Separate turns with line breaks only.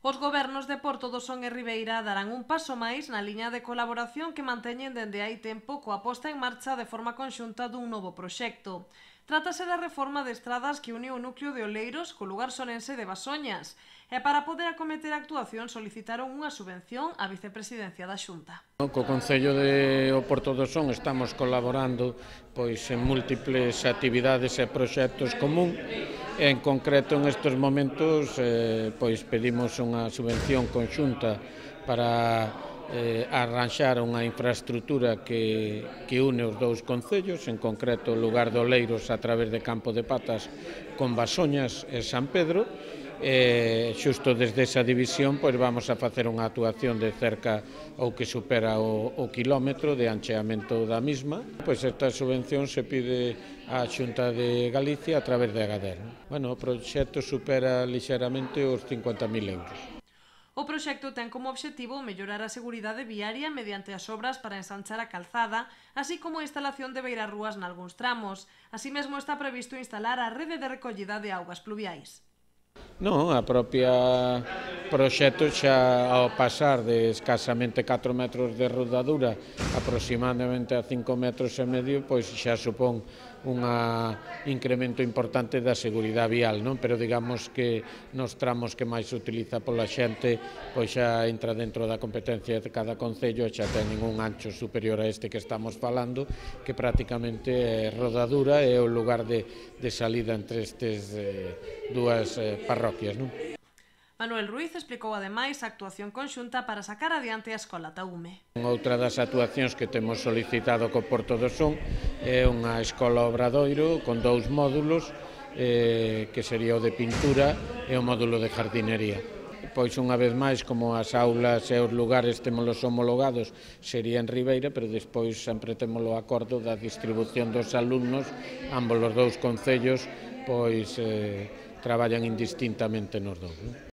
Os gobernos de Porto do Son e Ribeira darán un paso máis na liña de colaboración que manteñen dende hai tempo coa posta en marcha de forma conxunta dun novo proxecto. Trátase da reforma de estradas que une o núcleo de Oleiros co lugar sonense de Basoñas e para poder acometer a actuación solicitaron unha subvención á vicepresidencia da Xunta.
Co Concello de Porto do Son estamos colaborando en múltiples actividades e proxectos común. En concreto, en estes momentos, pedimos unha subvención conxunta para arranxar unha infraestructura que une os dous concellos, en concreto o lugar de Oleiros a través de Campo de Patas con Basoñas e San Pedro. Xusto desde esa división vamos a facer unha actuación de cerca ou que supera o quilómetro de ancheamento da mesma. Esta subvención se pide á Xunta de Galicia a través de Agadir. O proxecto supera lixeramente os 50.000 euros.
O proxecto ten como obxectivo mellorar a seguridade viaria mediante as obras para ensanchar a calzada, así como a instalación de beirarrúas nalgúns tramos. Así mesmo está previsto instalar a rede de recollida de augas pluviais.
Non, a propia proxecto xa ao pasar de escasamente 4 metros de rodadura aproximadamente a 5 metros e medio, xa supón un incremento importante da seguridade vial, non? Pero digamos que nos tramos que máis se utiliza pola xente, xa entra dentro da competencia de cada concello e xa teñen un ancho superior a este que estamos falando, que prácticamente é rodadura e o lugar de salida entre estes dúas parroquias, non?
Manuel Ruiz explicou ademais a actuación conxunta para sacar adiante a Escola Taume.
Outra das actuacións que temos solicitado co Porto do Son é unha escola obradoiro con 2 módulos, que sería o de pintura e o módulo de jardinería. Unha vez máis, como as aulas e os lugares témolos homologados, sería en Ribeira, pero despois sempre temos o acordo da distribución dos alumnos, ambos os dous concellos traballan indistintamente nos dous.